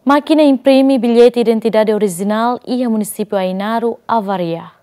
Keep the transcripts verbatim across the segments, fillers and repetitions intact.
Mákina imprime billete identidade orijinál iha munisípiu Ainaro avaria.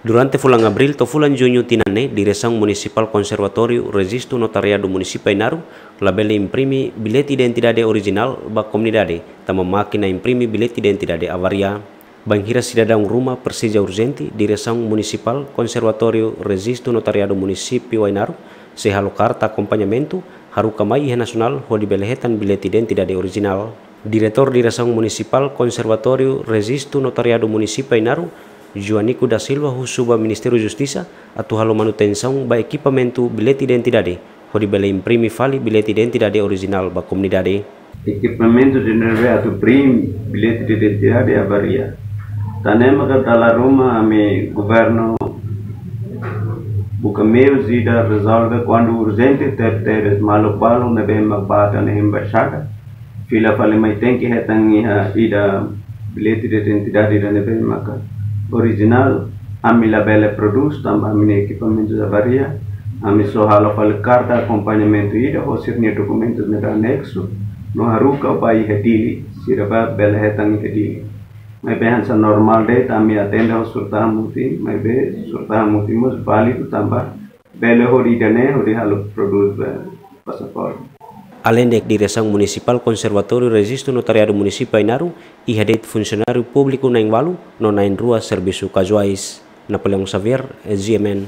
Durante fulan Abríl to'o fulan Juñu tinan ne'e, Diresaun Munisipál Konservatóriu Rejistu Notariadu Munisípiu Ainaro labele imprime billete identidade orijinál ba komunidade, tanba mákina imprime billete identidade avaria. Bainhira sidadaun ruma presiza urjente, Diresaun Munisipál Konservatóriu Rejistu Notariadu Munisípiu Ainaro sei halo karta akompañamentu haruka mai iha Nasionál hodi bele hetan billete identidade orijinál. Diretór Diresaun Munisipál Konservatóriu Rejistu Notariadu Munisípiu Ainaro, Joanico da Silva, husu ba Ministériu Justisa atu halo manutensaun ba ekipamentu billete identidade hodi bele imprime fali billete identidade orijinál ba komunidade. Ekipamentu ida ne'ebé atu imprime billete identidade avaria. Tan ne'e maka dala ruma ami governu buka meius ida rezolve kuandu urjente, tebes maluk balu ne'ebé mak bá tan iha embaixada, fila fali mai tenke hetan iha ida billete identidade ida ne'ebé maka orijinál, ami labele prodús tanba ami-nia ekipamentu avaria. Ami só halo fali karta akompañamentu ida ho sira-nia dokumentu ne'ebé aneksu, no haruka ba iha Dili, sira bá bele hetan iha Dili. Maibé hanesan normál de'it ami atende ho surat-mutin, maibé surat-mutin mós válidu tanba bele hodi ida-ne'e hodi halo prodús ba pasaporte. Aleinde Diresaun Munisipál Konservatóriu Rejistu Notariadu Munisípiu Ainaro, iha de'it funsionáriu públiku na'in-ualu no na'in-rua servisu kazuais. Napoleão Xavier, G M N.